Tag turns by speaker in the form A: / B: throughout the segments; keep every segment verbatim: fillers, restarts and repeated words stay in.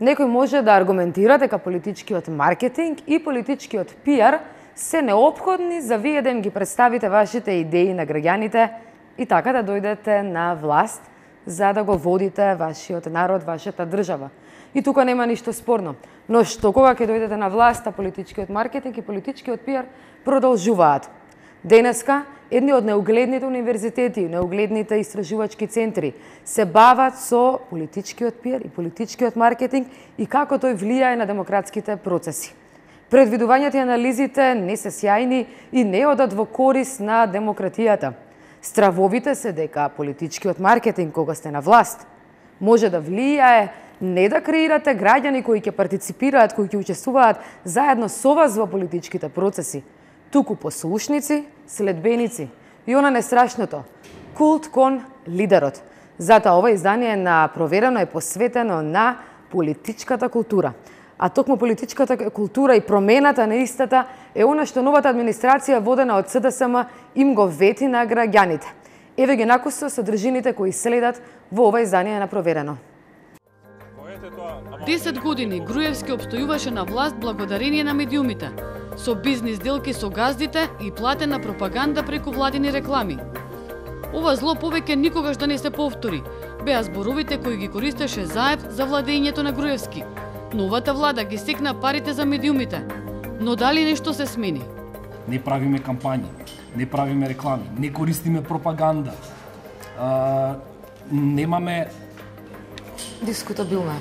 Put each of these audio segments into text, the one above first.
A: Некој може да аргументира дека политичкиот маркетинг и политичкиот пиар се неопходни за вие да им ги представите вашите идеи на граѓаните и така да дојдете на власт за да го водите вашиот народ, вашата држава. И тука нема ништо спорно. Но што кога ќе дојдете на власт, а политичкиот маркетинг и политичкиот пиар продолжуваат. Денеска, едни од неугледните универзитети, неугледните истражувачки центри се бават со политичкиот пиар и политичкиот маркетинг и како тој влијае на демократските процеси. Предвидувањата и анализите не се сјајни и не одат во корис на демократијата. Стравовите се дека политичкиот маркетинг кога сте на власт може да влијае не да креирате граѓани кои ќе партиципираат, кои ќе учествуваат заедно со вас во политичките процеси, туку послушници, следбеници. И она не страшното, култ кон лидерот. Затоа ова издание на Проверено е посветено на политичката култура. А токму политичката култура и промената на истата е она што новата администрација водена од С Д С М им го вети на граѓаните. Еве ги накусо содржините кои следат во ова издание на Проверено.
B: десет години Груевски обстојуваше на власт благодарение на медиумите, со бизнис делки со газдите и платена пропаганда преку владини реклами. Ова зло повеќе никогаш да не се повтори, беа зборовите кои ги користеше Заев за владењето на Груевски. Новата влада ги секна парите за медиумите, но дали нешто се смени?
C: Не правиме кампањи, не правиме реклами, не користиме пропаганда, а, немаме...
A: Дискутабилно.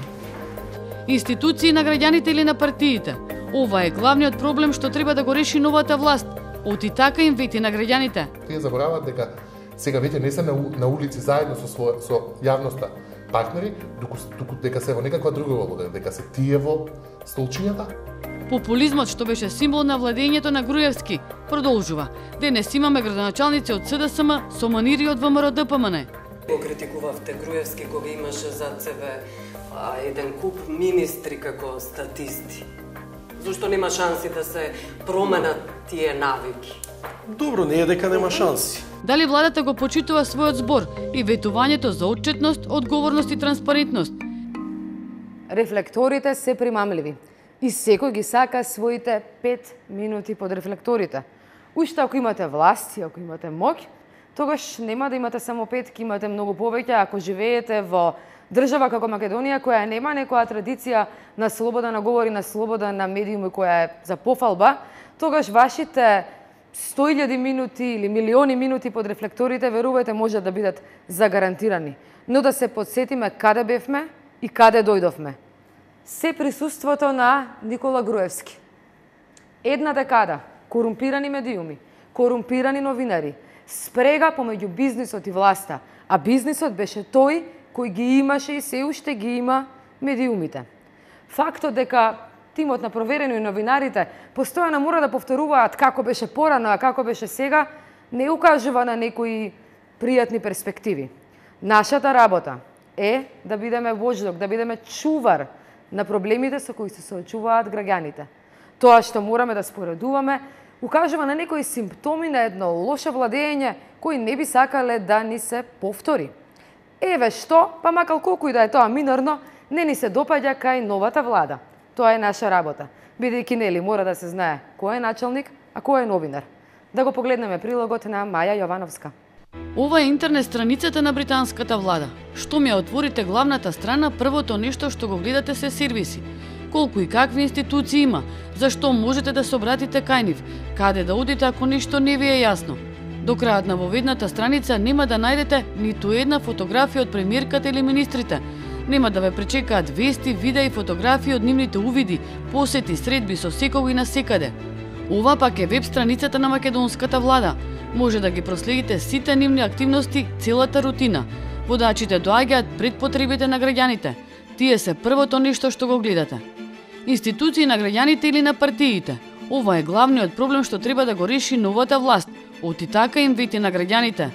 B: Институции на граѓаните или на партиите? Ова е главниот проблем што треба да го реши новата власт. Оти така им вети на граѓаните.
D: Тие забораваат дека сега веќе не се на, на улици заедно со своја, со јавноста партнери, туку, туку дека се во некаква друга улога, дека се тие во столчињата.
B: Популизмот што беше символ на владењето на Груевски продолжува. Денес имаме градоначалници од С Д С М со манири од В М Р Д П М Н.
E: Го критикувавте Груевски кога имаше зад себе а, еден куп министри како статисти. Зошто нема шанси да се променат тие навики?
F: Добро, не е дека нема шанси.
B: Дали владата го почитува својот збор и ветувањето за отчетност, одговорност и транспарентност?
A: Рефлекторите се примамливи и секој ги сака своите пет минути под рефлекторите. Уште ако имате власт и ако имате моќ, тогаш нема да имате само пет, ќе имате многу повеќе ако живеете во држава како Македонија, која нема некоја традиција на слобода на говор и на слобода на медиуми која е за пофалба, тогаш вашите сто илјади минути или милиони минути под рефлекторите, верувајте, може да бидат загарантирани. Но да се подсетиме каде бевме и каде дојдовме. Се присуството на Никола Груевски. Една декада корумпирани медиуми, корумпирани новинари, спрега помеѓу бизнисот и власта, а бизнисот беше тој кој ги имаше и се уште ги има медиумите. Фактот дека тимот на Проверено и новинарите постојано мора да повторуваат како беше порано, а како беше сега, не укажува на некои пријатни перспективи. Нашата работа е да бидеме вождок, да бидеме чувар на проблемите со кои се соочуваат граѓаните. Тоа што мораме да споредуваме, укажува на некои симптоми на едно лошо владење кои не би сакале да ни се повтори. Еве што, па макар колку и да е тоа минорно, не ни се допаѓа кај новата влада. Тоа е наша работа. Бидејќи нели мора да се знае кој е началник, а кој е новинар. Да го погледнеме прилогот на Маја Јовановска.
B: Ова е интернет страницата на британската влада. Што ми ја отворите главната страна, првото нешто што го гледате се сервиси. Колку и какви институции има, зашто можете да се обратите кај нив, каде да одите ако нешто не ви е јасно. До крајот на воведната страница нема да најдете ниту една фотографија од премиерката или министрите. Нема да ве пречекаат вести, видеа и фотографии од нивните увиди, посети, средби со секого и насекаде. Ова пак е веб страницата на македонската влада. Може да ги проследите сите нивни активности, целата рутина. Водачите доаѓаат пред потребите на граѓаните. Тие се првото нешто што го гледате. Институции на граѓаните или на партиите. Ова е главниот проблем што треба да го реши новата власт. Оти така им вети на граѓаните.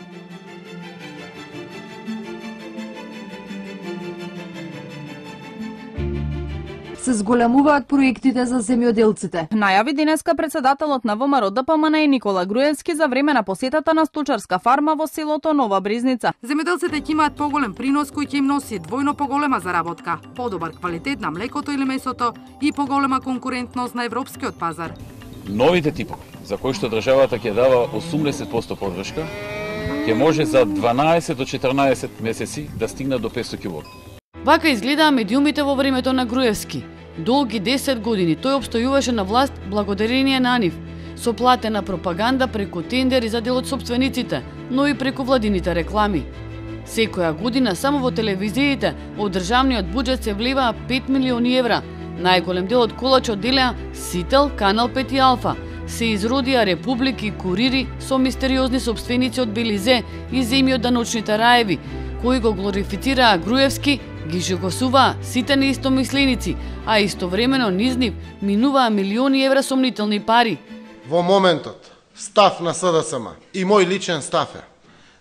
G: се зголемуваат проектите за земјоделците.
H: Најави денеска председателот на ВМРО Д П М Н Никола Груевски за време на посетата на сточарска фарма во селото Нова Брезница.
I: Земјоделците ќе имаат поголем принос кој ќе им носи двојно поголема заработка, подобар квалитет на млекото или месото и поголема конкурентност на европскиот пазар.
J: Новите типови, за кои што државата ќе дава осумдесет проценти поддршка, ќе може за дванаесет до четрнаесет месеци да стигнат до петстотини килограми.
B: Вака изгледаа медиумите во времето на Груевски. Долги десет години тој обстојуваше на власт благодарение на нив, со платена пропаганда преку тендери за дел од собствениците, но и преку владините реклами. Секоја година само во телевизиите од државниот буџет се вливаа пет милиони евра. Најголем дел од колачот делеа Сител, Канал пет и Алфа. Се изродија републики, курири со мистериозни собственици од Белизе и земји од даночните раеви, кои го глорифицираа Груевски, ги жогосуваа сите неистомисленици, а истовремено низ нив минуваа милиони евра сомнителни пари.
K: Во моментот, став на С Д С М и мој личен став е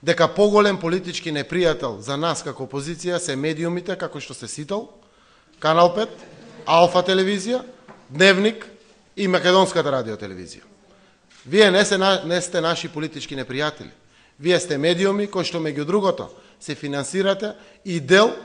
K: дека поголем политички непријател за нас како опозиција се медиумите како што се Сител, Канал пет, Алфа телевизија, Дневник и Македонската радиотелевизија. Вие не, се, не сте наши политички непријатели. Вие сте медиуми кои што меѓу другото се финансирате и дел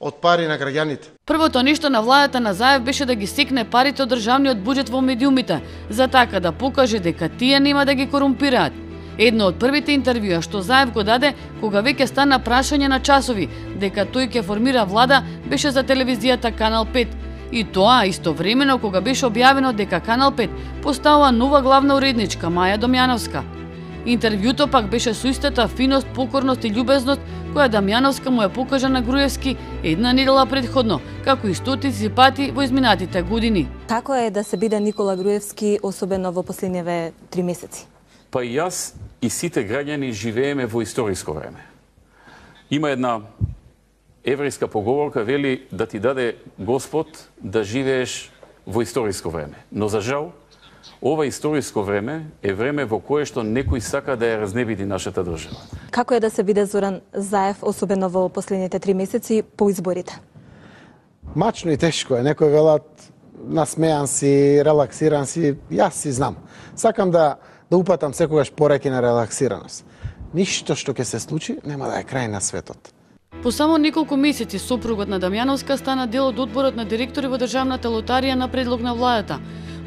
K: од пари на граѓаните.
B: Првото нешто на владата на Заев беше да ги секне парите од државниот буџет во медиумите, за така да покаже дека тие нема да ги корумпираат. Едно од првите интервјуа што Заев го даде кога веќе стана прашање на часови дека тој ќе формира влада беше за телевизијата Канал пет. И тоа истовремено кога беше објавено дека Канал пет поставува нова главна уредничка Маја Домјановска. Интервјуто пак беше со истата финост, покорност и љубезност која Дамјановска му ја покажа на Груевски една недела предходно, како и стотици пати во изминатите години.
L: Како е да се биде Никола Груевски, особено во последниве три месеци?
J: Па и јас и сите граѓани живееме во историско време. Има една еврејска поговорка, вели да ти даде Господ да живееш во историско време. Но за жал, ова историско време е време во кое што некој сака да ја разнебиди нашата држава.
L: Како е да се биде Зоран Заев, особено во последните три месеци по изборите?
M: Мачно и тешко е. Некој велат насмеан си, релаксиран си, јас си знам. Сакам да да упатам секогаш пораки на релаксираност. Ништо што ќе се случи нема да е крај на светот.
B: По само неколку месеци сопругот на Дамјановска стана дел од одборот на директори во државната лотарија на предлог на владата.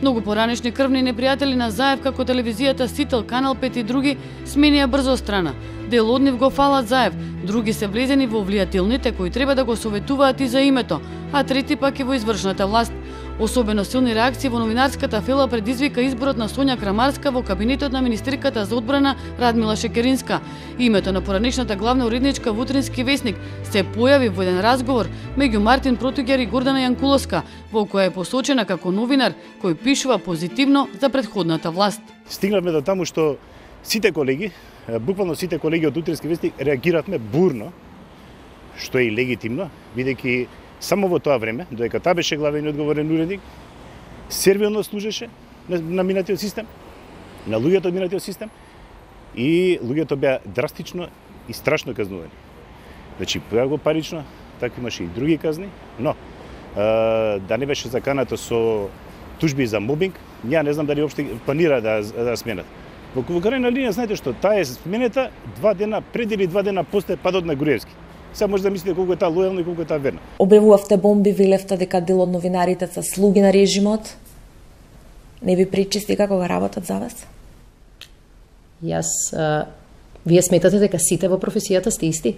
B: Многу поранешни крвни непријатели на Заев како телевизијата Сител, Канал пет и други сменија брзо страна. Дел од нив го фалат Заев, други се влезени во влијателните кои треба да го советуваат и за името, а трети пак и во извршната власт. Особено силни реакции во новинарската фела предизвика изборот на Сонја Крамарска во кабинетот на министерката за одбрана Радмила Шекеринска. Името на поранешната главна уредничка во Утрински весник се појави во еден разговор меѓу Мартин Протуѓер и Гордана Јанкуловска, во која е посочена како новинар кој пишува позитивно за претходната власт.
N: Стигнавме до таму што сите колеги, буквално сите колеги од Утрински весник реагиравме бурно, што е и легитимно, бидејќи само во тоа време, додека таа беше главен и одговорен уредник, сервилно служеше на, на минатиот систем, на луѓето од минатиот систем, и луѓето беа драстично и страшно казнувани. Значи, поја го парично, така имаше и други казни, но а, да не беше заканато со тужби за мобинг, ја не знам дали уопште планира да, да сменат. Во, во крајна линија, знаете што, таа е сменета два дена пред или два дена после падот на Груевски. Сега може да мислите колку е таа лојална и колку е таа верна.
L: Обревувавте бомби, велевте дека дел од новинарите се слуги на режимот. Не ви причисти како го работат за вас?
O: Јас, а, вие сметате дека сите во професијата сте исти?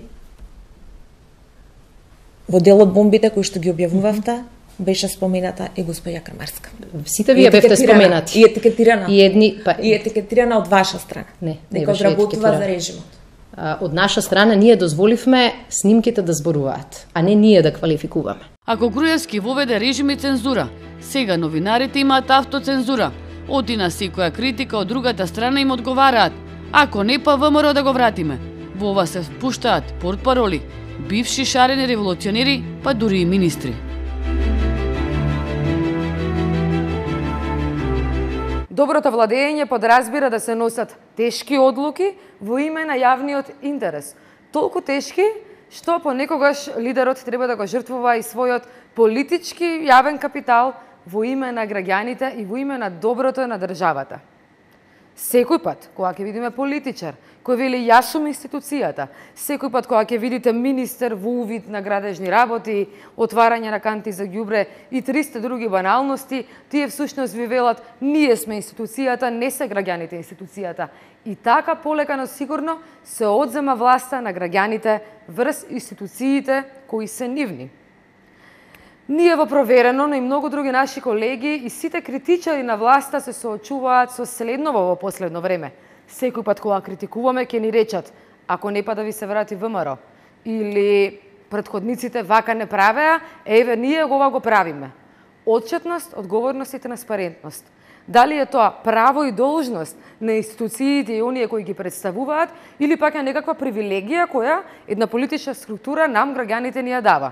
L: Во дел од бомбите кои што ги објавувавте, беше спомената и госпоѓа Крамарска.
O: Сите вие бевте споменати.
L: И етикетирана.
O: И едни, па...
L: И етикетирана од ваша страна.
O: Не, не
L: дека
O: беше
L: одработува за режимот.
O: Од наша страна ние дозволивме снимките да зборуваат, а не ние да квалификуваме.
B: Ако Груевски воведе режим и цензура, сега новинарите имаат автоцензура. Оти на секоја критика од другата страна им одговараат. Ако не, па ВМРО да го вратиме. Во ова се впуштаат портпароли, бивши шарени револуционери, па дури и министри.
A: Доброто владење подразбира да се носат тешки одлуки во име на јавниот интерес. Толку тешки што понекогаш лидерот треба да го жртвува и својот политички јавен капитал во име на граѓаните и во име на доброто на државата. Секој пат, кога ќе видиме политичар, кој вели јас сум институцијата, секој пат кога ќе видите министер во увид на градежни работи, отварање на канти за ѓубре и триста други баналности, тие всушност ви велат ние сме институцијата, не се граѓаните институцијата. И така полека но сигурно се одзема власта на граѓаните врз институциите кои се нивни. Ние во Проверено, но и многу други наши колеги и сите критичари на власта се соочуваат со следново во последно време. Секој пат кога критикуваме ќе ни речат ако не па да ви се врати ВМРО или претходниците вака не правеа, еве ние ова го правиме. Отчетност, одговорност и транспарентност. Дали е тоа право и должност на институциите и оние кои ги представуваат или пак е некаква привилегија која една политичка структура нам граѓаните ни ја дава.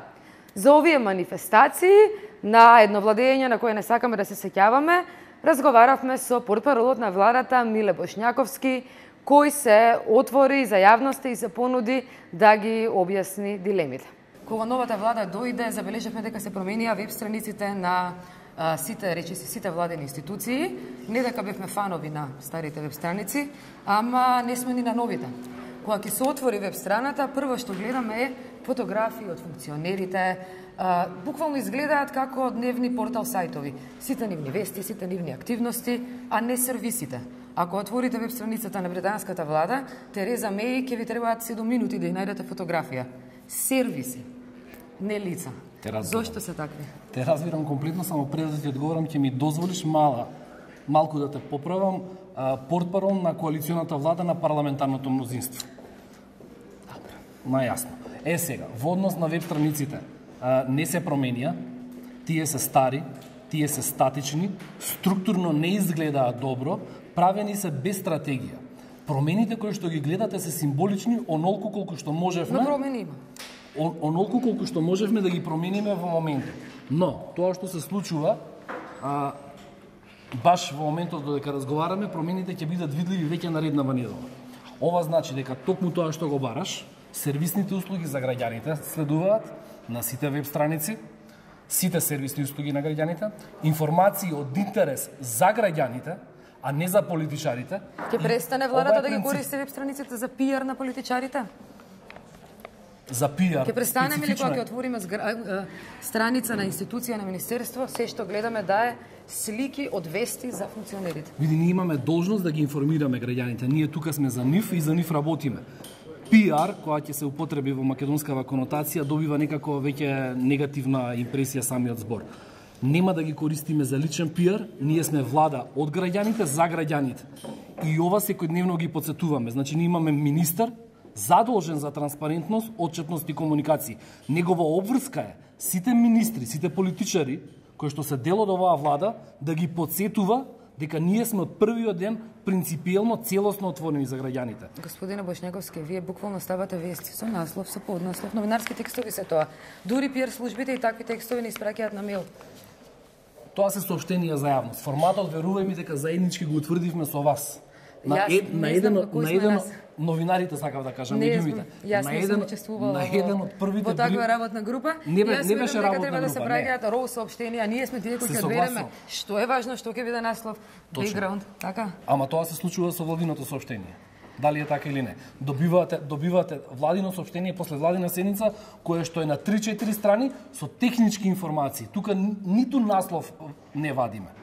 A: За овие манифестации на едно владење на кое не сакаме да се сеќаваме, разговаравме со портпаролот на владата Миле Бошњаковски, кој се отвори за јавноста и се понуди да ги објасни дилемите. Кога новата влада дојде, забележавме дека се променија веб страниците на а, сите, речиси, сите владени институции. Не дека бевме фанови на старите веб страници, ама не сме ни на новите. Кога ќе се отвори веб страната, прво што гледаме е фотографии од функционерите, а, буквално изгледаат како дневни портал сајтови. Сите нивни вести, сите нивни активности, а не сервисите. Ако отворите веб страницата на британската влада, Тереза Меј ќе ви требаат седум минути да ја најдете фотографија. Сервиси, не лица. Зошто се такви?
C: Те разбирам комплетно, само пред да ти одговорам, ќе ми дозволиш мала, малку да те поправам, портпарол на коалиционата влада на парламентарното мнозинство. Најасно. Е сега, во однос на веб страниците, не се променија, тие се стари, тие се статични, структурно не изгледаат добро, правени се без стратегија. Промените кои што ги гледате се символични, онолку колку што можевме.
A: Но промени има.
C: Онолку колку што можевме да ги промениме во моментот. Но тоа што се случува, а, баш во моментот додека разговараме, промените ќе бидат видливи веќе нареднава недела. Ова значи дека токму тоа што го бараш, сервисните услуги за граѓаните следуваат на сите веб страници, сите сервисни услуги на граѓаните, информации од интерес за граѓаните, а не за политичарите.
A: Ќе престане владата да ги користи веб страниците за пиар на политичарите?
C: За пиар.
A: Ќе престанеме ли кога ќе отвориме страница на институција на министерство, се што гледаме да е слики од вести за функционерите?
C: Види, ние имаме должност да ги информираме граѓаните. Ние тука сме за нив и за нив работиме. Пиар, која ќе се употреби во македонскава конотација, добива некако веќе негативна импресија самиот збор. Нема да ги користиме за личен пиар, ние сме влада од граѓаните за граѓаните. И ова секојдневно ги подсетуваме. Значи, ние имаме министер задолжен за транспарентност, отчетност и комуникација. Негова обврска е сите министри, сите политичари кои што се дел од оваа влада да ги подсетува дека ние сме од првиот ден принципиелно целосно отворени за граѓаните.
A: Господине Бошњаковски, вие буквално ставате вести со наслов, со поднаслов, новинарски текстови се тоа. Дури пиар службите и такви текстови ни испраќаат на мејл.
C: Тоа се соопштенија за јавност. Форматот, верувај ми дека заеднички го утврдивме со вас. На,
A: Јас,
C: ед, на еден, на еден новинарите сакав да кажам, медиумите.
A: Јас не сум учествувала
C: на еден од првите
A: во таква работна група.
C: Не, бе, не беше работна
A: треба
C: група,
A: да се праќаат роу соопштенија, ние сме тие кои ќе одбереме што е важно, што ќе биде наслов, бекграунд, така?
C: Ама тоа се случува со владиното соопштение. Дали е така или не? Добивате, добивате владино соопштение после владина седница, кое што е на три-четири страни со технички информации. Тука ниту наслов не вадиме.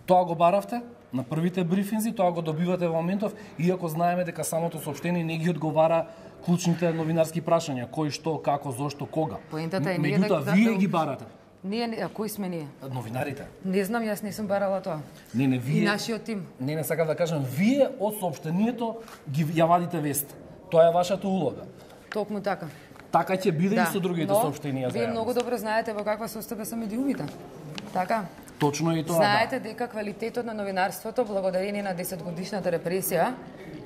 C: Тоа го баравте на првите брифинзи, тоа го добивате во моментов, иако знаеме дека самото соопштение не ги одговара клучните новинарски прашања, кој, што, како, зошто, кога.
A: Поентата е ние
C: Меѓутоа,
A: да
C: вие ги барате.
A: Ние, а кои сме ние?
C: Новинарите.
A: Не знам, јас не сум барала тоа.
C: Не, не, вие.
A: И нашиот тим.
C: Не, не сакам да кажам, вие од соопштението ги ја вадите вест. Тоа е вашата улога.
A: Токму така.
C: Така ќе биде
A: да.
C: и со другите
A: Но,
C: соопштенија за
A: вие многу добро знаете во каква состојба се медиумите. Така.
C: Точно и тоа.
A: Знаете
C: да.
A: дека квалитетот на новинарството, благодарение на десетгодишната репресија,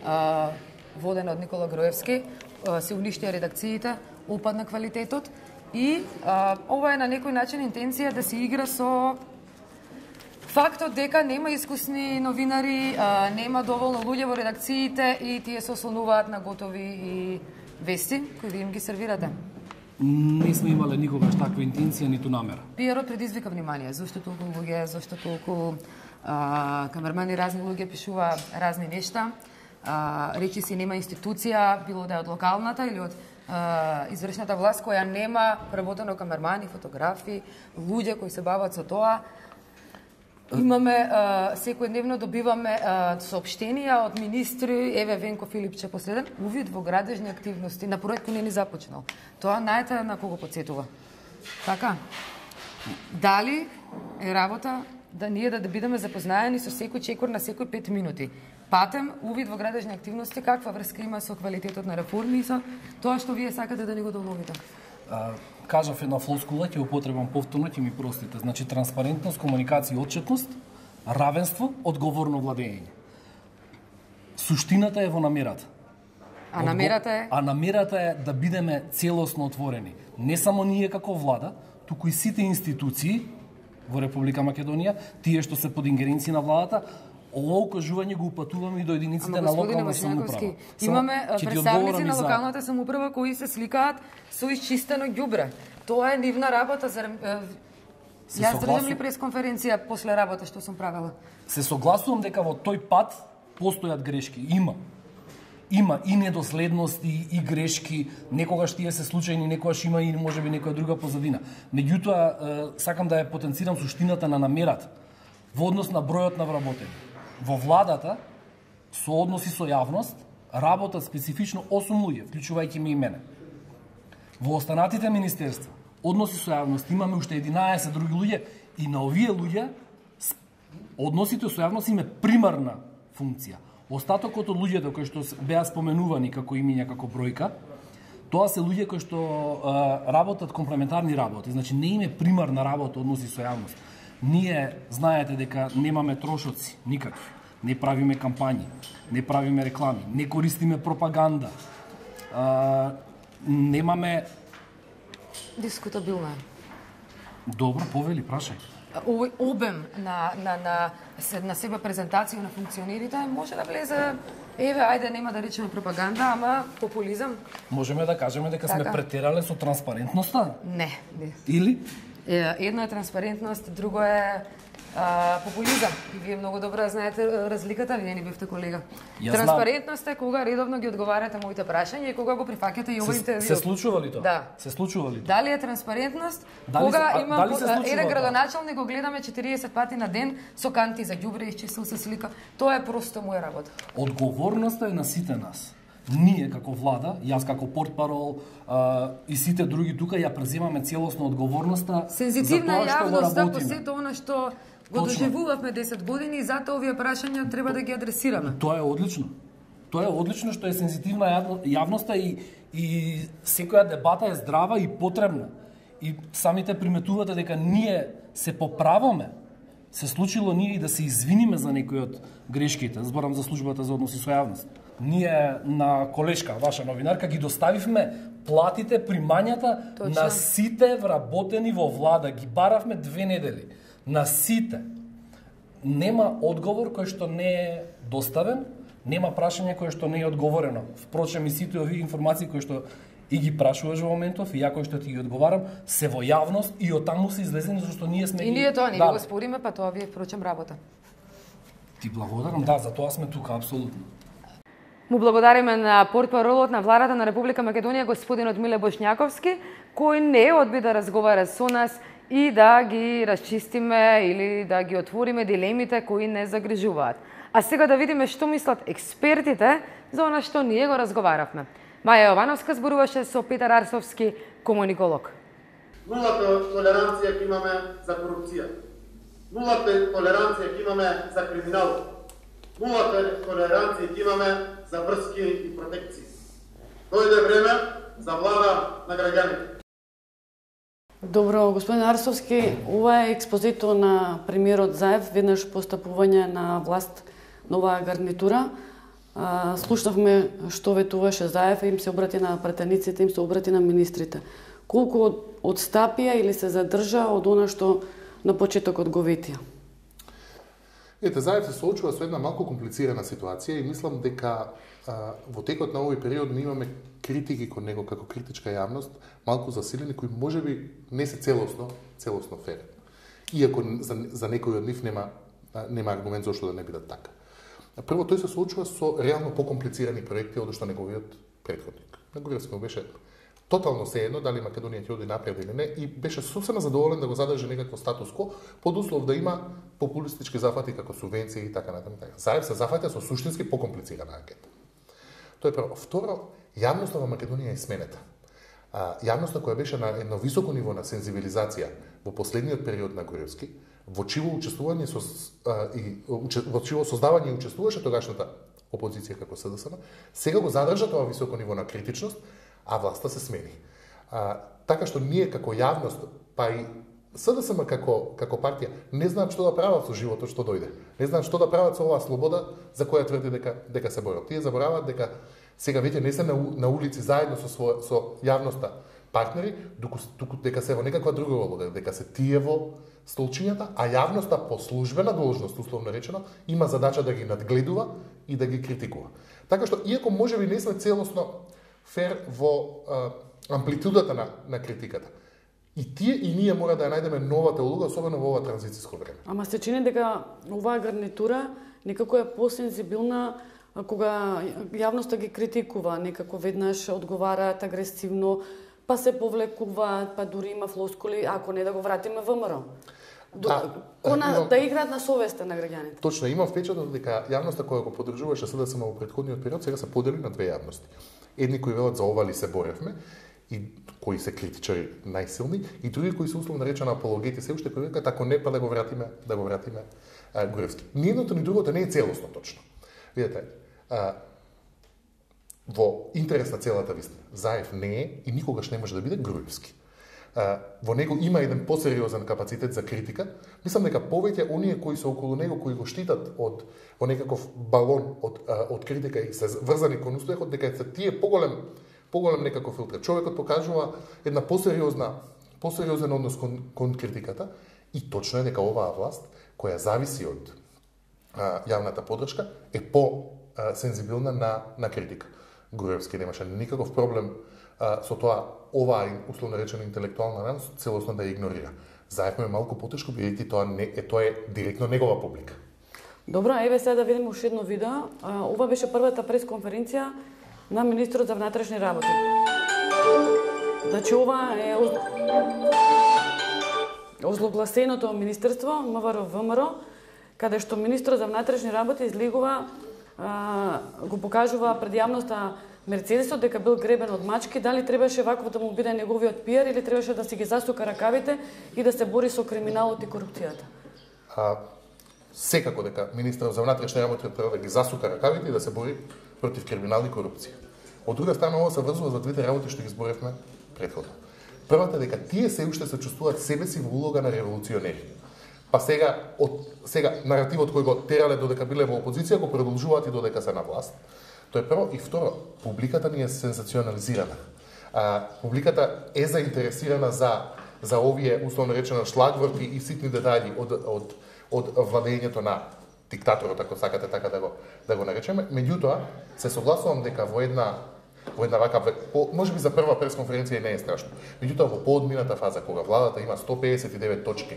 A: а, водена од Никола Груевски, а, се уништија редакциите, опадна квалитетот и а, ова е на некој начин интенција да се игра со фактот дека нема искусни новинари, а, нема доволно луѓе во редакциите и тие се ослонуваат на готови и вести кои ви им ги сервирате?
C: Не сме имале никогаш таква интенција ниту намера.
A: Пиерот предизвика внимание, зашто толку луѓе, зашто толку а, камермани, разни луѓе пишува разни нешта. А, речи си нема институција, било да е од локалната или од а, извршната власт која нема преработено камермани, фотографи, луѓе кои се бават со тоа. Имаме, а, секојдневно добиваме а, соопштенија од министри, еве Венко Филипче последен, увид во градежни активности, на проект кој не ни започнал. Тоа најте на кого подсетува. Така? Дали е работа да ние да, да бидеме запознаени со секој чекор на секој пет минути? Патем, увид во градежни активности, каква врска има со квалитетот на реформи и со тоа што вие сакате да ни го доловите?
C: Кажав една флоскула, ќе употребам повторно, ќе ми простите. Значи, транспарентност, комуникација и отчетност, равенство, одговорно владење. Суштината е во намерата.
A: А намерата е?
C: А намерата е да бидеме целосно отворени. Не само ние како влада, туку и сите институции во Република Македонија, тие што се под ингеренција на владата, ово укажување го упатуваме и до единиците на локална самоуправа.
A: Имаме представници на локалната самоуправа кои се сликаат со исчистено ѓубре. Тоа е нивна работа за Јас држам ли пресконференција после работа што сум правела?
C: Се согласувам дека во тој пат постојат грешки. Има. Има и недоследности, и грешки, некогаш тие се случајни, некогаш има и можеби некоја друга позадина. Меѓутоа, сакам да ја потенцирам суштината на намерата во однос на бројот на вработени. Во владата, со односи со јавност, работат специфично осум луѓе, вклучувајќи ме и мене. Во останатите министерства, односи со јавност, имаме уште единаесет други луѓе и на овие луѓе односите со јавност име примарна функција. Остатокот од луѓето кои што беа споменувани како имиња, како бројка, тоа се луѓе кои што а, работат комплементарни работи, значи не име примарна работа односи со јавност. Ние знаете дека немаме трошоци никакви, не правиме кампањи, не правиме реклами, не користиме пропаганда, а, немаме...
A: Дискутабилно е.
C: Добро, повели, прашај.
A: Овој обем на, на, на, на себе презентација на функционерите може да влезе, еве, ајде, нема да речеме пропаганда, ама популизам.
C: Можеме да кажеме дека така сме претерале со транспарентноста?
A: Не, не.
C: Или?
A: Едно е транспарентност, друго е а, популизам. И вие многу добро знаете разликата, вие не бевте колега.
C: Ја
A: Транспарентност е кога редовно ги одговарате моите прашања и кога го прифаќате и овој интервју.
C: Се случува ли тоа?
A: Да.
C: Се случува ли тоа?
A: Дали е транспарентност?
C: Дали
A: кога
C: се, а,
A: имам
C: дали се
A: еден градоначалник го гледаме четириесет пати на ден со канти за ѓубре, исчисел се слика. Тоа е просто моја работа.
C: Одговорноста е на сите нас. Ние како влада, јас како портпарол а, и сите други тука ја преземаме целосно одговорноста
A: Сензитивна
C: за тоа што го
A: јавност
C: работиме.
A: по сето она што го доживувавме десет години и затоа овие прашања треба да ги адресираме.
C: Тоа е одлично. Тоа е одлично што е сензитивна јавноста и, и секоја дебата е здрава и потребна. И самите приметувате дека ние се поправаме. Се случило ние и да се извиниме за некои од грешките. Зборам за службата за односи со јавност. Ние на колешка, ваша новинарка, ги доставивме платите, примањата Точно. на сите вработени во влада. Ги баравме две недели. На сите. Нема одговор кој што не е доставен, нема прашање кое што не е одговорено. Впрочем, и сите овие информации кои што и ги прашуваш во моментов, и ја кој што ти ги одговарам, се во јавност и од таму се излезени, зашто ние сме...
A: И ние тоа, ние го спориме, па тоа ви е, впрочем, работа.
C: Ти благодарам, да, за тоа сме тука, апсолутно.
A: Му благодариме на портпаролот на владата на Република Македонија, господинот Миле Бошњаковски, кој не одби да разговара со нас и да ги расчистиме или да ги отвориме дилемите кои не загрижуваат. А сега да видиме што мислат експертите за она што ние го разговаравме. Маја Јовановска зборуваше со Петар Арсовски, комуниколог.
K: Нулата толеранција ќе имаме за корупција. Нулата толеранција ќе имаме за криминал. Нулата толеранција ќе имаме за врски и протекции. Дојде време за влада на граѓаните.
B: Добро, господин Арсовски, ова е експозито на премиерот Заев, веднаш постапување на власт на оваа гарнитура. Слушнавме што ветуваше Заев, им се обрати на пратениците, им се обрати на министрите. Колку одстапија или се задржа од она што на почетокот го ветија?
D: Ете, Заев се соочува со една малку комплицирана ситуација и мислам дека а, во текот на овој период ние имаме критики кон него како критичка јавност, малку засилени, кои можеби не се целосно, целосно фер. Иако за, за некој од нив нема, нема аргумент зашто да не бидат така. Прво, тој се соочува со реално покомплицирани проекти од што неговиот претходник. На Груевски му беше тотално сеедно дали Македонија ќе оди напред или не и беше сосема задоволен да го задржи некакво статус-ко под услов да има популистички зафати како субвенции и така натаму. Заев се зафаќа со суштински покомплицирана анкета. Тоа е прво. Второ, јавноста во Македонија е сменета. А, јавноста која беше на едно високо ниво на сензибилизација во последниот период на Груевски, во чиво учествување со а, и во чиво создавање и учествуваше тогашната опозиција како СДСМ, сега го задржа тоа високо ниво на критичност, а власта се смени. А, така што ние како јавност, па и СДСМ како, како партија, не знаат што да прават со животот што дојде. Не знаат што да прават со оваа слобода за која тврди дека, дека се борат. Тие забораваат дека сега веќе не се на, на улици заедно со, со, со јавноста партнери, доку, доку дека се во некаква друга улога, дека се тие во столчињата, а јавноста по службена должност, условно речено, има задача да ги надгледува и да ги критикува. Така што, иако можеби не сме целосно фер во а, амплитудата на, на критиката, и тие и ние мора да ја најдеме новата улога, особено во ова транзициско време.
B: Ама се чини дека оваа гарнитура некако е посензибилна кога јавноста ги критикува, некако веднаш одговараат агресивно, па се повлекуваат, па дури има флоскули, ако не да го вратиме ВМРО. Да, Кона, имам... да играат на совеста на граѓаните.
D: Точно, имам впечаток дека јавноста која го поддржуваше СДСМ во претходниот период сега се подели на две јавности. Едни кои велат за ова ли се боревме, и кои се критичари најсилни, и други кои се условно речено апологети се уште кои викаат ако не па да го вратиме, да го вратиме а, Груевски. Ни едното ни другото не е целосно точно. Видете, а, во интерес на целата вистина, Заев не е и никогаш не може да биде Груевски. А, во него има еден посериозен капацитет за критика. Мислам дека повеќе оние кои се околу него, кои го штитат од во некаков балон од, а, од критика и се врзани кон успехот, дека се тие поголем поголем некаков филтр. Човекот покажува една посериозна посериозен однос кон, кон критиката и точно е дека оваа власт која зависи од а, јавната поддршка е по а, сензибилна на на критика. Груевски немаше никаков проблем а, со тоа оваа условно речено интелектуална раност целосно да ја игнорира. Заев му е малку потешко бидејќи тоа не е тоа е директно негова публика.
B: Добро, еве сега да видиме уште едно видео. А, ова беше првата пресконференција на министрот за внатрешни работи. Значи ова е озлогласеното министерство МВР ВМРО, каде што министрот за внатрешни работи излегува, а, го покажува пред јавноста Мерцедесот дека бил гребен од мачки, дали требаше вакво да му биде неговиот пиар или требаше да си ги засука ракавите и да се бори со криминалот и корупцијата?
D: А, секако дека министрот за внатрешни работи треба да ги засука ракавите и да се бори против криминал и корупција. Од друга страна, ова се врзува за двете работи што ги зборевме претходно. Првата дека тие се уште се чувствуваат себе си во улога на револуционери. Па сега, од, сега наративот кој го терале додека биле во опозиција го продолжуваат и додека се на власт. Тоа е прво. И второ, публиката ни е сензационализирана. А, публиката е заинтересирана за, за овие, условно речено, шлагворки и ситни детали од, од, од владењето на диктаторот, ако сакате така да го, да го наречеме. Меѓутоа, се согласувам дека во една во една вака, по, може би за прва пресконференција не е страшно. Меѓутоа, во поодмината фаза, кога владата има сто педесет и девет точки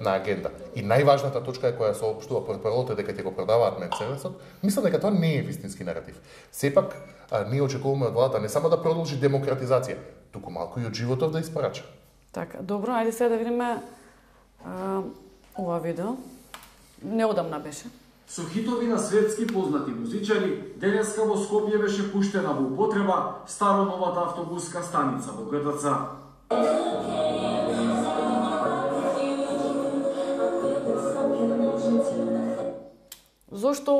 D: на агенда и најважната точка е која се општува портпаролот дека ќе го продаваат Мерцедесот, мислам дека тоа не е вистински наратив. Сепак, а, ние очекуваме од владата не само да продолжи демократизација, туку малку и од животот да испорача.
B: Така, добро, ајде сега да видиме а, ова видео. Неодамна беше.
P: Со хитови на светски познати музичари, денеска во Скопје беше пуштена во употреба старо-новата автобуска станица во ГДЦ.
B: Зошто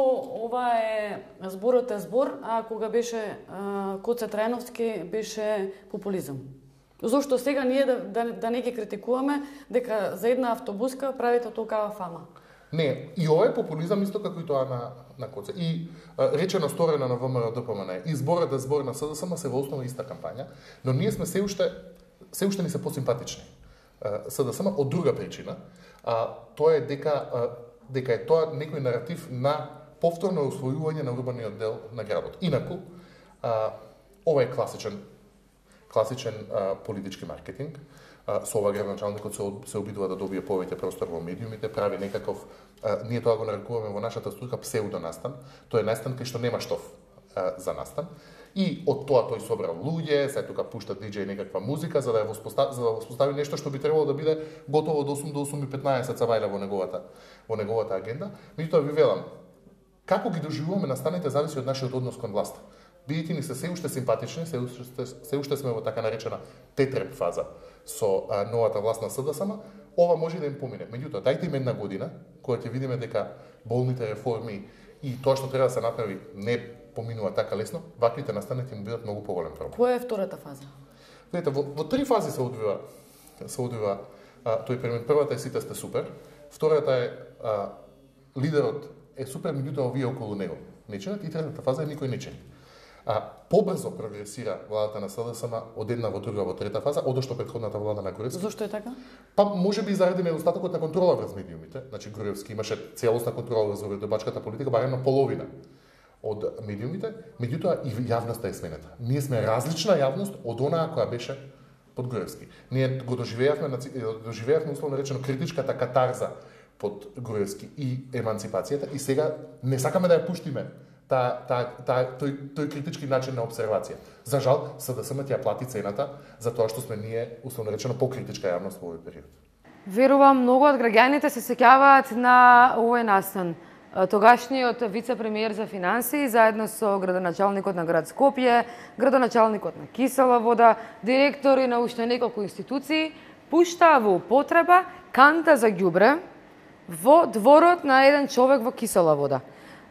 B: ова е зборот е збор, а кога беше а, Коце Трајновски беше популизам? Зошто сега ние да, да, да не ги критикуваме дека за една автобуска правите толкава фама?
D: Не, и ова е популизам исто како и тоа на, на Коце. И а, речено сторено на ВМРО-ДПМН. И зборот е збор на СДСМ се во основа иста кампања, но ние сме се уште, се уште ни се посимпатични. СДСМ од друга причина, а, тоа е дека а, дека е тоа некој наратив на повторно усвојување на урбаниот дел на градот. Инаку, а, ова е класичен класичен а, политички маркетинг. А, со ова градоначалникот се, се обидува да добие повеќе простор во медиумите, прави некаков, а, ние тоа го нарекуваме во нашата струка псевдонастан. Тоа е настан кај што нема штоф а, за настан. И од тоа тој собрал луѓе, се тука пушта диџеј некаква музика за да ја воспостави, за да воспостави нешто што би требало да биде готово од осум до осум и петнаесет цавајла во неговата во неговата агенда. Меѓутоа ви велам, како ги доживуваме настаните зависи од нашиот однос кон власта. Бидејќи ни се се уште симпатични, се уште, се уште сме во така наречена тетреп фаза со а, новата власт на СДСМ, ова може да им помине. Меѓутоа, дајте им една година, кога ќе видиме дека болните реформи и тоа што треба да се направи не поминува така лесно, ваквите настани ќе му бидат многу поголем проблем.
B: Која е втората фаза?
D: Видите, во, во три фази се одвива, се одвива а, тој пример. Првата е сите сте супер, втората е а, лидерот е супер, меѓутоа овие околу него не чинат, и третата фаза е никој не чини. А, побрзо прогресира владата на СДСМ од една во друга во трета фаза, одошто претходната влада на Груевски.
B: Зошто е така?
D: Па можеби заради недостатокот на контрола врз медиумите. Значи Груевски имаше целосна контрола врз уредбачката политика, барем на половина од медиумите, меѓутоа и јавноста е сменета. Ние сме различна јавност од онаа која беше под Груевски. Ние го доживеавме, доживеавме условно речено критичката катарза под Груевски и еманципацијата и сега не сакаме да ја пуштиме та, та, та, тој, тој критички начин на обсервација. За жал, СДСМ ќе ја плати цената за тоа што сме ние, условно речено, покритичка јавност во овој период.
A: Верувам, многу од граѓаните се сеќаваат на овој настан. Тогашниот вице-премиер за финансии, заедно со градоначалникот на град Скопје, градоначалникот на Кисела вода, директори на уште неколку институции, пуштаа во употреба канта за ѓубре во дворот на еден човек во Кисела вода.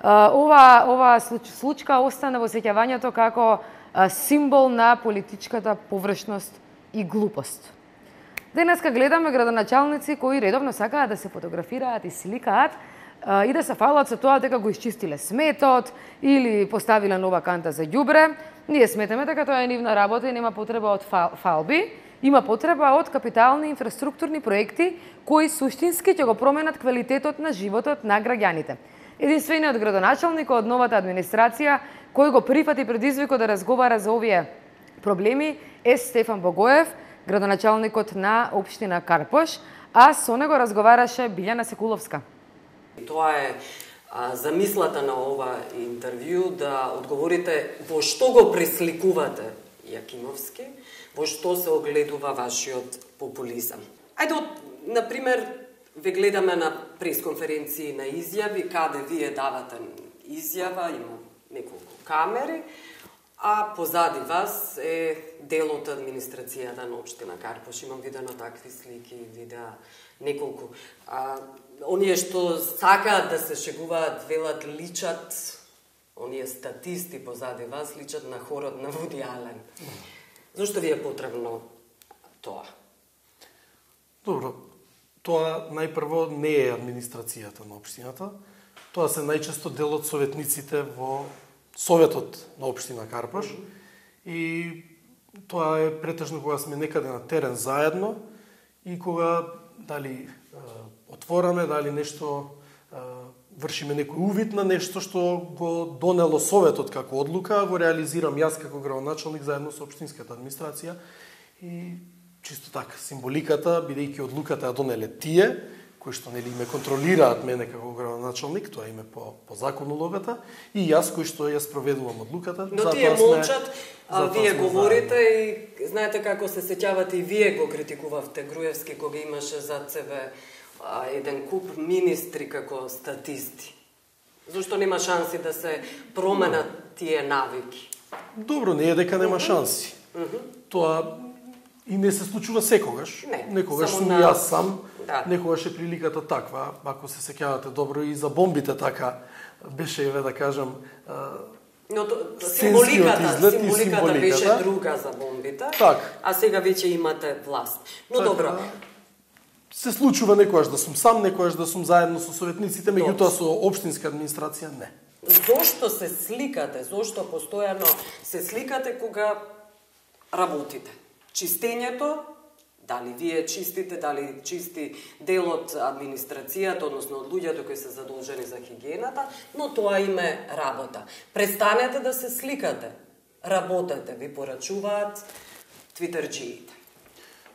A: Ова, ова случка остана во сеќавањето како символ на политичката површност и глупост. Денеска гледаме градоначалници кои редовно сакаат да се фотографираат и сликаат и да се фалат со тоа дека го исчистиле сметот или поставиле нова канта за ѓубре. Ние сметаме дека тоа е нивна работа и нема потреба од фалби, има потреба од капитални инфраструктурни проекти кои суштински ќе го променат квалитетот на животот на граѓаните. Единствениот градоначалник од новата администрација кој го прифати предизвикот да разговара за овие проблеми е Стефан Богоев, градоначалникот на општина Карпош, а со него разговараше Билјана Секуловска.
E: Тоа е а, замислата на ова интервју, да одговорите во што го пресликувате Јакимовски, во што се огледува вашиот популизам. Ајде, например, ве гледаме на пресконференции на изјави, каде вие давате изјава, има неколку камери, а позади вас е дел од администрацијата на општина Карпош. Имам видено такви слики, видеа неколку. А, оние што сакаат да се шегуваат, велат, личат, оние статисти позади вас, личат на хорот на Вуди Ален. Зошто ви е потребно тоа?
F: Добро, тоа најпрво не е администрацијата на општината, тоа се најчесто дел од советниците во Советот на општина Карпош, mm -hmm. и тоа е претежно кога сме некаде на терен заедно и кога дали е, отвораме, дали нешто е, вршиме некој увид на нешто што го донело Советот како одлука, го реализирам јас како градоначалник заедно со општинската администрација и чисто така символиката, бидејќи одлуката ја донеле тие кои што нели ме контролираат мене како градоначалник, тоа име по по закон улогата, и јас кој што ја спроведувам одлуката.
E: Но тие молчат, а вие говорите и знаете како се сеќавате и вие го критикувавте Груевски кога имаше зад себе а, еден куп министри како статисти. Зошто нема шанси да се променат тие навики?
F: Добро, не е дека нема шанси.
E: Uh -huh.
F: Тоа и не се случува секогаш.
E: Не,
F: некогаш сум
E: на...
F: јас сам.
E: Да.
F: Некогаш е приликата таква, ако се сеќавате добро, и за бомбите така беше, еве да кажам,
E: но то, символиката, символиката беше друга за бомбите,
F: так.
E: А сега веќе имате власт. Но
F: так,
E: добро.
F: Се случува некогаш да сум сам, некогаш да сум заедно со советниците, меѓутоа со општинска администрација не.
E: Зошто се сликате? Зошто постојано се сликате кога работите? Чистењето Дали вие чистите, дали чисти дел од администрацијата, односно од луѓето кои се задолжени за хигиената, но тоа име работа. Престанете да се сликате, работете, ви порачуваат твитерџиите.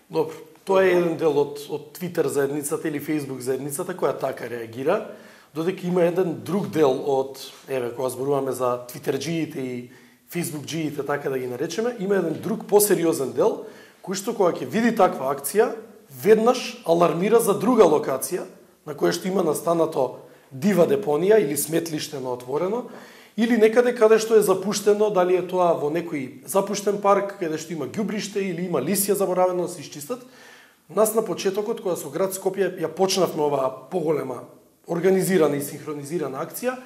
F: Добро, тоа е еден дел од, од Твитер заедницата или Фейсбук заедницата која така реагира, додека има еден друг дел од, еве, кога зборуваме за твитерџиите и фейсбукџиите, така да ги наречеме, има еден друг посериозен дел, кој што кога ќе види таква акција, веднаш алармира за друга локација, на која што има настанато дива депонија или сметлиште на отворено, или некаде каде што е запуштено, дали е тоа во некој запуштен парк, каде што има ѓубриште или има лисија заборавено да се исчистат. Нас на почетокот, кога со град Скопје ја почнавме оваа поголема организирана и синхронизирана акција,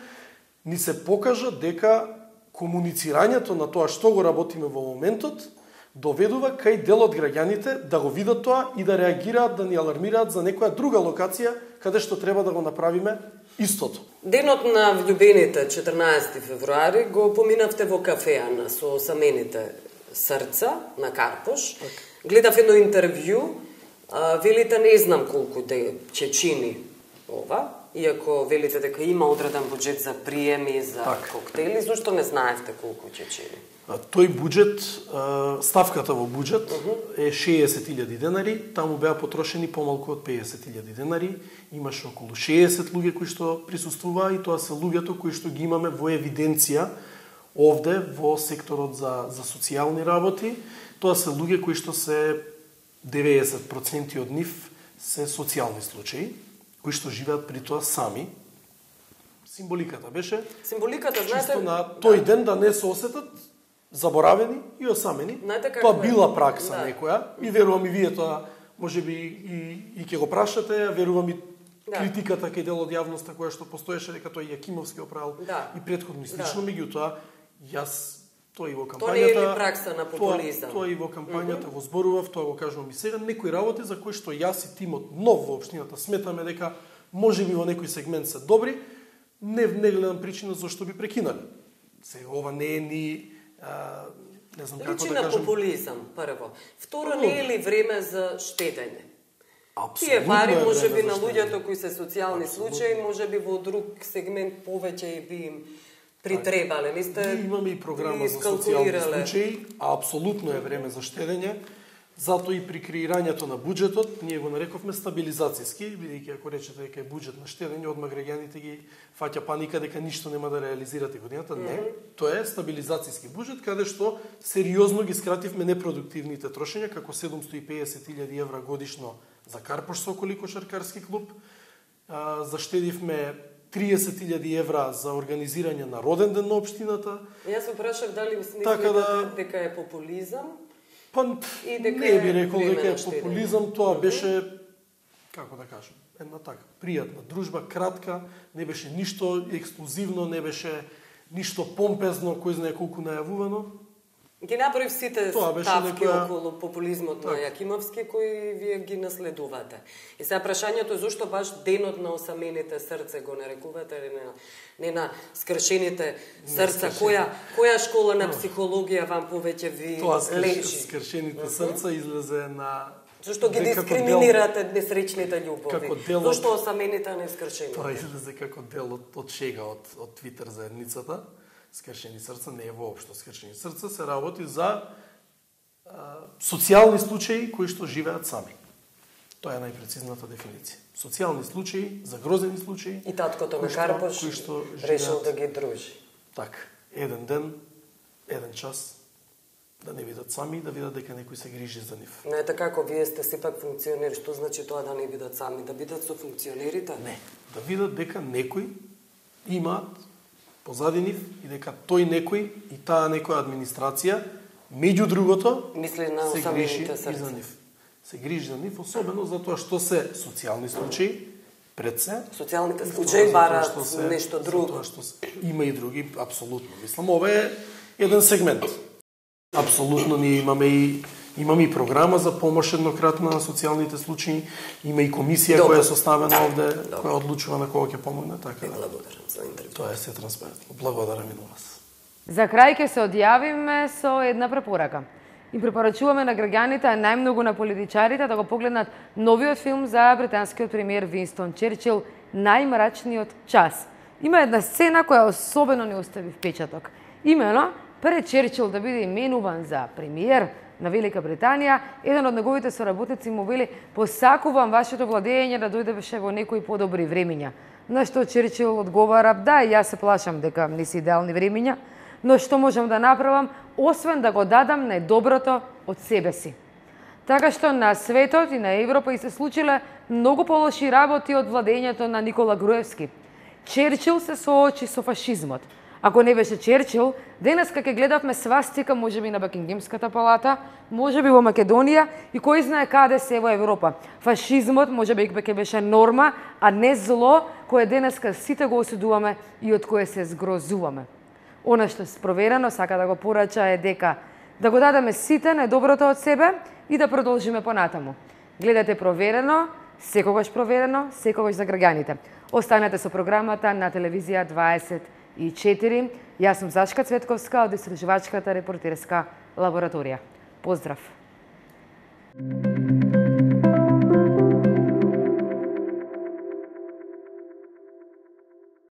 F: ни се покажа дека комуницирањето на тоа што го работиме во моментот доведува кај дел од граѓаните да го видат тоа и да реагираат, да ни алармираат за некоја друга локација каде што треба да го направиме истото.
E: Денот на влюбените, четрнаесети февруари, го поминавте во кафеана со самените срца на Карпош. Гледав едно интервју, велите не знам колку де чечини ова, иако велите дека има одреден буџет за приеми, за так. коктели, зашто не знаевте колку чечини?
F: Тој буџет, ставката во буџет е шеесет илјади денари, таму беа потрошени помалку од пеесет илјади денари, имаше околу шеесет луѓе кои што присуствуваа и тоа се луѓето кои што ги имаме во евиденција овде во секторот за, за социјални работи. Тоа се луѓе кои што се деветдесет проценти од нив се социјални случаи, кои што живеат при тоа сами. Символиката беше
E: Символиката, знаете,
F: чисто на тој ден да не се осетат заборавени и осамени. Тоа била пракса да. некоја и верувам и вие тоа можеби и, и ќе го прашате, верувам и да. критиката кај дел од јавноста која што постоеше дека тој Јакимовски оправил да. и претходно и слично, да. меѓутоа јас тоа и во кампањата.
E: Тоа не е ли пракса на популизам?
F: Тоа, тоа и во кампањата mm -hmm. го зборував, тоа го кажувам и сега, некои работи за кои што јас и тимот нов во општината сметаме дека можеби во некој сегмент се добри, не не гледам причина зашто би прекинали. Сега ова не е ни а, не знам како
E: Личи
F: да
E: на
F: кажам.
E: популизам, прво. Второ, не е ли време за штедење?
F: Абсолютно
E: Тие пари
F: е
E: може би
F: време
E: на
F: за
E: луѓето кои се социјални случаи, може би во друг сегмент повеќе и би им притребале. Не сте
F: Ние имаме и програма за социјални случаи, а апсолутно е време за штедење. Затоа и при креирањето на буџетот, ние го нарековме стабилизацијски, бидејќи ако речете дека е буџет на штедење, одма граѓаните ги фаќа паника дека ништо нема да реализирате годината. Не, тоа е стабилизацијски буџет, каде што сериозно ги скративме непродуктивните трошења, како седумстотини и песет илјади евра годишно за Карпош Соколи кошаркарски клуб. Заштедивме триесет илјади евра за организирање на роден ден на општината.
E: Јас се прашав дали мислите
F: така да...
E: дека е популизам?
F: Па,
E: и дека
F: не би рекол дека е
E: штедење.
F: популизам, тоа беше, како да кажам, една така, пријатна дружба, кратка, не беше ништо ексклузивно, не беше ништо помпезно, кој знае колку најавувано.
E: Ги направив сите ставки
F: некоја...
E: околу популизмот на Јакимовски, кои вие ги наследувате. И сега прашањето е зошто баш денот на осамените срце го нарекувате, или не, не на скршените срца? Која, која школа на психологија вам повеќе ви
F: Тоа
E: лечи?
F: скршените срца излезе на...
E: Зошто ги дискриминирате дел... несречните љубови? Дел... Зошто осамените не скршени?
F: Тоа излезе како дел од, од шега од, од Твитер заедницата. Скршени срца не е воопшто скршени срца, се работи за а, социјални случаи кои што живеат сами. Тоа е најпрецизната дефиниција. Социјални случаи, загрозени случаи.
E: И таткото на Карпош решил да ги дружи.
F: Така, еден ден, еден час, да не видат сами и да видат дека некој се грижи за нив.
E: Не е така, ако вие сте сепак функционери, што значи тоа да не видат сами, да видат со функционерите?
F: Не, да видат дека некој имаат позади нив и дека тој некој и таа некоја администрација, меѓу другото,
E: мисли на
F: се грижи
E: срца.
F: и за нив. Се грижи за нив, особено затоа што се социјални случаи, пред се.
E: Социјалните случаи бараат нешто друго.
F: Затоа што се, има и други, апсолутно. Мислам, ова е еден сегмент. Апсолутно ние имаме и Имаме и програма за помош еднократна на социјалните случаи, има и комисија Добре. која е составена овде, Добре. која одлучува на кого ќе помогне, така да.
E: Благодарам за интервју.
F: Тоа е се транспарентно. Благодарам и на вас.
A: За крај ќе се одјавиме со една препорака. Им препорачуваме на граѓаните, а најмногу на политичарите да го погледнат новиот филм за британскиот премиер Винстон Черчил Најмрачниот час. Има една сцена која особено не остави впечаток. Имено, пред Черчил да биде именуван за премиер на Велика Британија, еден од неговите соработници му вели: "Посакувам вашето владење да дојдеше во некои подобри времиња." На што Черчил одговара: "Да, јас се плашам дека не се идеални времиња, но што можам да направам, освен да го дадам најдоброто од себе си." Така што на светот и на Европа и се случиле многу полоши работи од владењето на Никола Груевски. Черчил се соочи со фашизмот. Ако не беше Черчил, денеска ќе гледавме свастика можеби на Бакингемската палата, можеби во Македонија и кој знае каде се во Европа. Фашизмот можеби ќе беше норма, а не зло кое денеска сите го осудуваме и од кое се згрозуваме. Она што спроверено сака да го порача е дека да го дадеме сите најдоброто од себе и да продолжиме понатаму. Гледате Проверено, секогаш проверено, секогаш за граѓаните. Останете со програмата на телевизија дваесет и четири. Јас сум Зашка Цветковска од Истражувачката репортерска лабораторија. Поздрав!